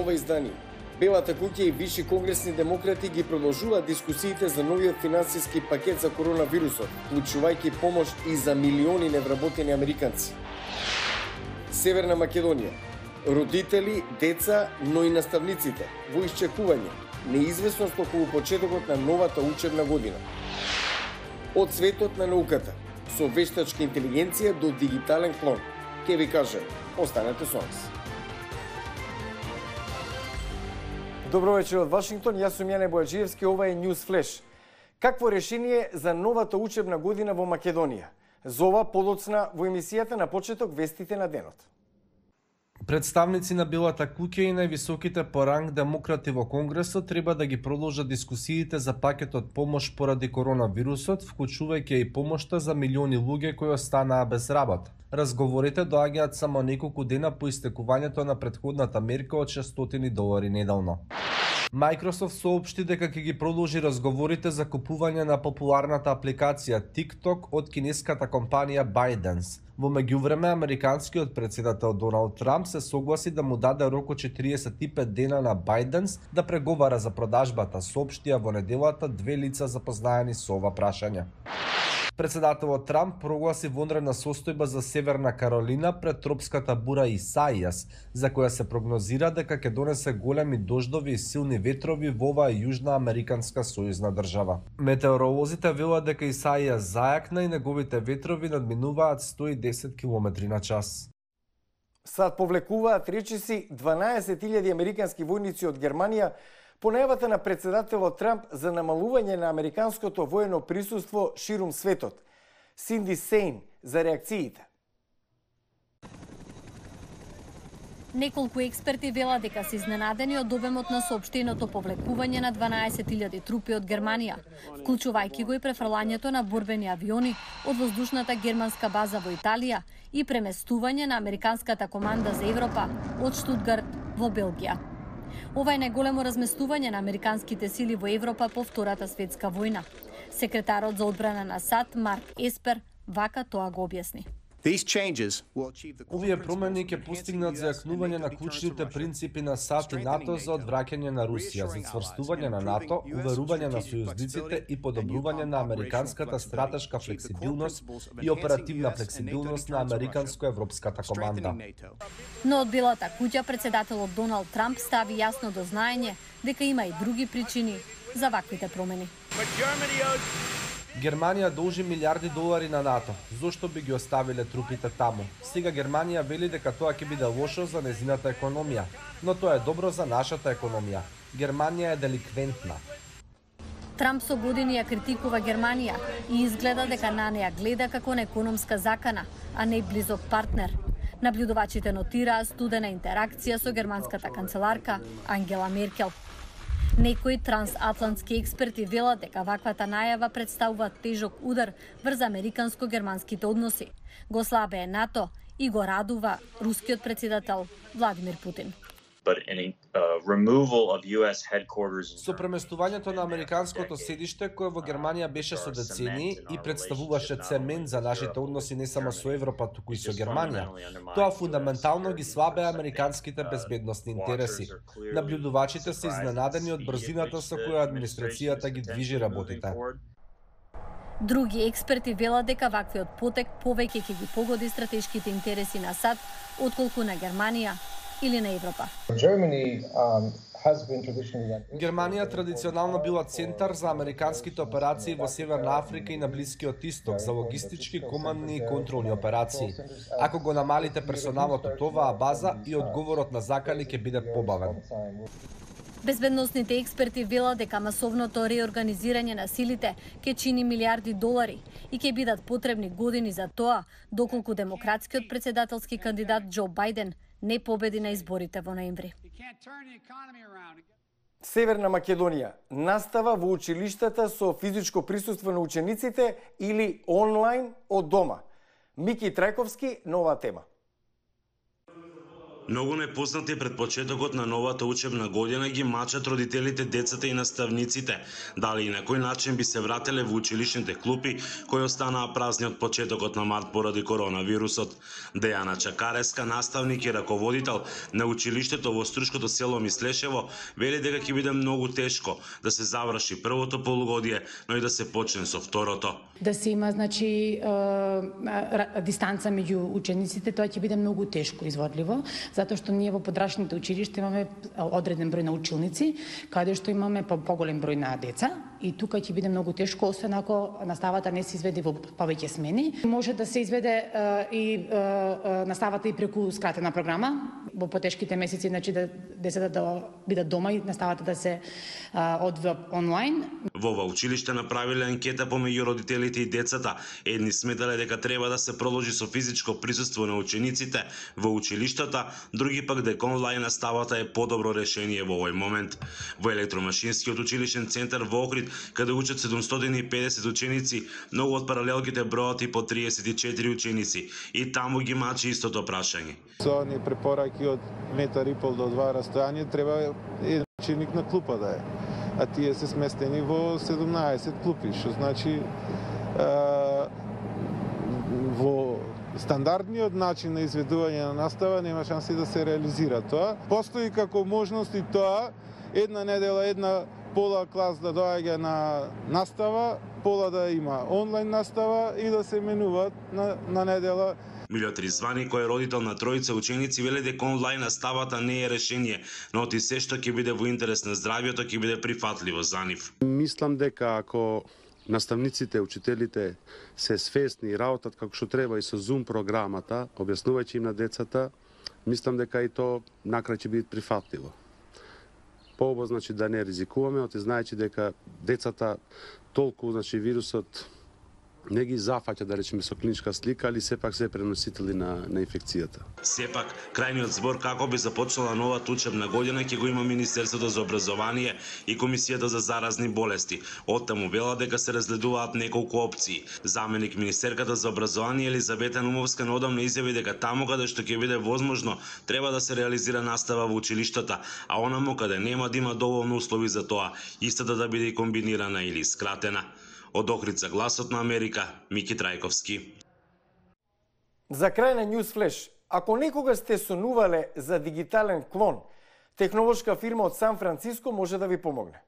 ова издание. Белата куќа и виши конгресни демократи ги продолжуваат дискусиите за новиот финансиски пакет за коронавирусот, вклучувајќи помош и за милиони невработени американци. Северна Македонија. Родители, деца, но и наставниците во исчекување, неизвестност околу почетокот на новата учебна година. Од светот на науката, со вештачка интелигенција до дигитален клон. Ке ви кажем, останете со нас. Добро вечер од Вашингтон, јас сум Јане Бојаджиевски, ова е News Flash. Какво решение за новата учебна година во Македонија? За ова подоцна во емисијата на почеток вестите на денот. Представници на Белата куќа и највисоките по ранг демократи во Конгресот треба да ги продолжат дискусиите за пакетот помош поради коронавирусот, вклучувајќи и помошта за милиони луѓе кои останаа без работа. Разговорите доаѓаат само неколку дена по истекувањето на претходната мерка од $600 неделно. Microsoft соопшти дека ќе ги продолжи разговорите за купување на популарната апликација TikTok од кинеската компанија ByteDance. Во меѓувреме, американскиот председател Доналд Трамп се согласи да му даде рок од 45 дена на ByteDance да преговара за продажбата, соопштија во неделата две лица запознаени со ова прашање. Председателот Трамп прогласи вонредна состојба за Северна Каролина пред тропската бура Исаијас, за која се прогнозира дека ќе донесе големи дождови и силни ветрови во оваа јужна американска сојузна држава. Метеоролозите велат дека Исаијас зајакна и неговите ветрови надминуваат 110 км на час. Сад повлекуваат речиси 12.000 американски војници од Германија по најавата на председателот Трамп за намалување на американското воено присуство ширум светот. Синди Сейн за реакциите. Неколку експерти велат дека се изненадени од обемот на соопштеното повлекување на 12.000 трупи од Германија, вклучувајќи го и префрлањето на борбени авиони од воздушната германска база во Италија и преместување на американската команда за Европа од Штутгарт во Белгија. Ова е најголемо разместување на американските сили во Европа по Втората светска војна. Секретарот за одбрана на САД Марк Еспер вака тоа го објасни. Овие промени ќе постигнат зајакнување на клучните принципи на САД и НАТО за одвраќање на Русија, за цврстување на НАТО, уверување на сојузниците и подобрување на американската стратешка флексибилност и оперативна флексибилност на американско-европската команда. Но од Белата куќа председателот Доналд Трамп стави јасно до знаење дека има и други причини за ваквите промени. Германија должи милиарди долари на НАТО. Зошто би ги оставиле трупите таму? Сега Германија вели дека тоа ќе биде лошо за незината економија, но тоа е добро за нашата економија. Германија е деликвентна. Трамп со години ја критикува Германија и изгледа дека на неа гледа како на економска закана, а не близок партнер. Наблюдувачите нотираа студена интеракција со германската канцеларка Ангела Меркел. Некои трансатлантски експерти велат дека ваквата најава представува тежок удар врз американско-германските односи, го слабее НАТО и го радува рускиот председател Владимир Путин. Со преместувањето на американското седиште, кое во Германија беше со децении и представуваше цемент за нашите односи не само со Европа, туку и со Германија, тоа фундаментално ги слабее американските безбедносни интереси. Наблюдувачите се изненадени од брзината со која администрацијата ги движи работите. Други експерти велат дека ваквиот потек повеќе ќе ги погоди стратешките интереси на САД отколку на Германија или на Европа. Германија традиционално била центар за американските операции во Северна Африка и на Блискиот Исток за логистички, командни и контролни операции. Ако го намалите персоналот од оваа база и одговорот на закани ќе биде побавен. Безбедносните експерти велат дека масовното реорганизирање на силите ќе чини милиарди долари и ќе бидат потребни години за тоа, доколку демократскиот председателски кандидат Џо Бајден не победи на изборите во ноември. Северна Македонија настава во училиштата со физичко присуство на учениците или онлайн од дома. Мики Трајковски, нова тема. Многу непознати пред почетокот на новата учебна година ги мачат родителите, децата и наставниците. Дали и на кој начин би се врателе во училишните клупи кои останаа празни од почетокот на март поради коронавирусот. Дејана Чакареска, наставник и раководител на училиштето во Струшкото село Мислешево, вели дека ќе биде многу тешко да се заврши првото полугодие, но и да се почне со второто. Да се има, дистанца меѓу учениците, тоа ќе биде многу тешко изводливо, затоа што ние во подрачните училишта имаме одреден број на училници, каде што имаме поголем број на деца, и тука ќе биде многу тешко, освен ако наставата не се изведе во повеќе смени. Може да се изведе и наставата и преку скратена програма, во потешките месеци, да децата да бидат дома и наставата да се одвива онлайн. Во ова училиште направиле анкета помеѓу родителите и децата. Едни сметале дека треба да се продолжи со физичко присуство на учениците во училиштата, други пак дека онлайн наставата е подобро решение во овој момент. Во електромашинскиот училишен центар во Охрид, каде учат 750 ученици, многу од паралелките бројат и по 34 ученици, и таму ги мачи истото прашање. Со оние препораки од 1,5 до 2 растојање треба еден ученик на клупа да е, а тие се сместени во 17 клупи, што значи во стандардниот начин на изведување на настава нема шанси да се реализира тоа. Постои како можност и тоа една недела, една пола клас да доаѓа на настава, пола да има онлайн настава и да се менуваат на недела. Милјот Ризвани, кој е родител на тројца ученици, вели дека онлайн наставата не е решение, но оти се што ќе биде во интерес на здравјето ќе биде прифатливо за нив. Мислам дека ако наставниците, учителите се свесни и работат како што треба и со Zoom програмата, објаснувајќи им на децата, мислам дека и то накрај ќе биде прифатливо. Пообо, да не ризикуваме, оти знаејќи дека децата толку, вирусот не ги зафаќа, да речеме, со клиничка слика, али сепак се преносители на инфекцијата. Сепак, крајниот збор како би започнала новата учебна година ќе го има Министерството за образование и Комисијата за заразни болести. Оттаму вела дека се разгледуваат неколку опции. Заменик министерката за образование Елизавета Нумовска неодамна изјави дека таму каде што ќе биде возможно, треба да се реализира настава во училиштата, а онаму каде нема да има доволно услови за тоа, истата да биде комбинирана или скратена. Од Охрид за Гласот на Америка, Мики Трајковски. За крај на News Flash, ако некога сте сонувале за дигитален клон, технолошка фирма од Сан Франциско може да ви помогне.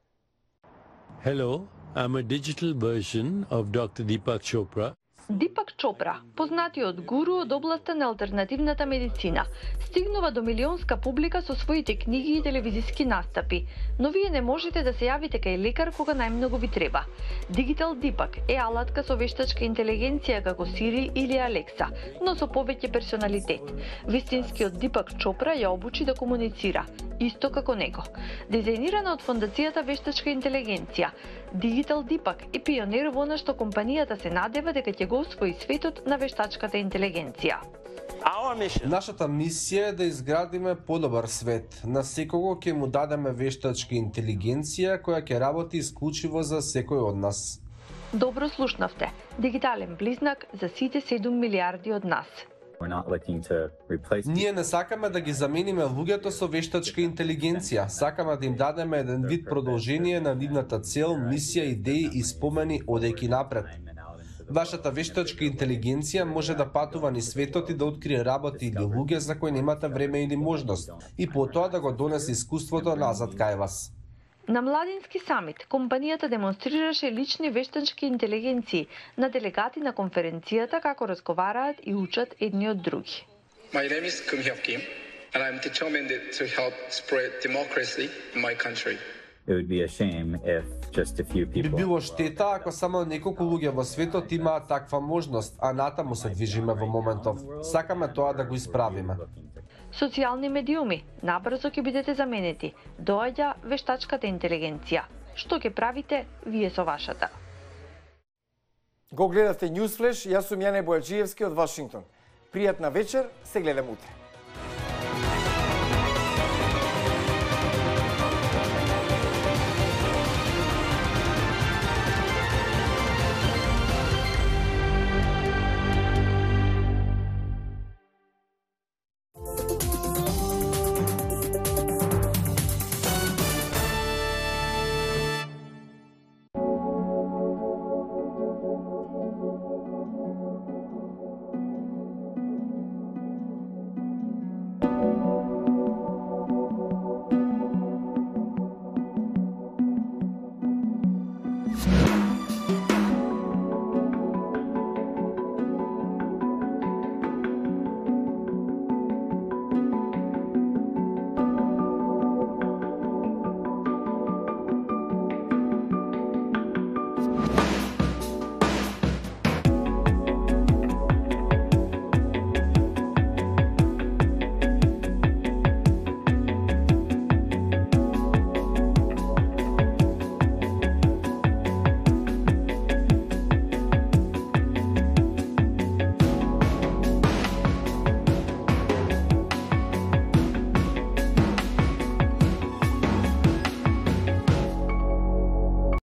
Hello, I'm a digital version of Dr. Deepak Chopra. Дипак Чопра, познатиот гуру од областа на алтернативната медицина, стигнува до милионска публика со своите книги и телевизиски настапи, но вие не можете да се јавите кај лекар кога најмногу ви треба. Digital Deepak е алатка со вештачка интелигенција како Siri или Alexa, но со повеќе персоналитет. Вистинскиот Дипак Чопра ја обучи да комуницира, исто како него. Дизајнирана од Фондацијата Вештачка интелигенција, Digital Deepak е пионер во она што компанијата се надева дека ќе го освои светот на вештачката интелигенција. Нашата мисија е да изградиме подобар свет. На секого ќе му дадеме вештачка интелигенција која ќе работи исклучиво за секој од нас. Добро слушнавте. Дигитален близнак за сите 7 милиарди од нас. Ние не сакаме да ги замениме луѓето со вештачка интелигенција. Сакаме да им дадеме еден вид продолжение на нивната цел, мисија, идеи и спомени одејќи напред. Вашата вештачка интелигенција може да патува низ светот и да открие работи или луѓе за кои немате време или можност, и потоа да го донесе искуството назад кај вас. На Младински самит, компанијата демонстрираше лични вештачки интелигенции на делегати на конференцијата како разговараат и учат едни од други. My name is Kim Hyuk Kim, and I'm determined to help spread democracy in my country. It would be a shame if just a few people. Би било штета ако само неколку луѓе во светот имаат таква можност, а натаму се движиме во моментов. Сакаме тоа да го исправиме. Социјални медиуми, набрзо ќе бидете заменети. Доаѓа вештачката интелигенција. Што ќе правите вие со вашата? Го гледавте News Flash, јас сум Јане Бојаджиевски од Вашингтон. Пријатна вечер, се гледам утре.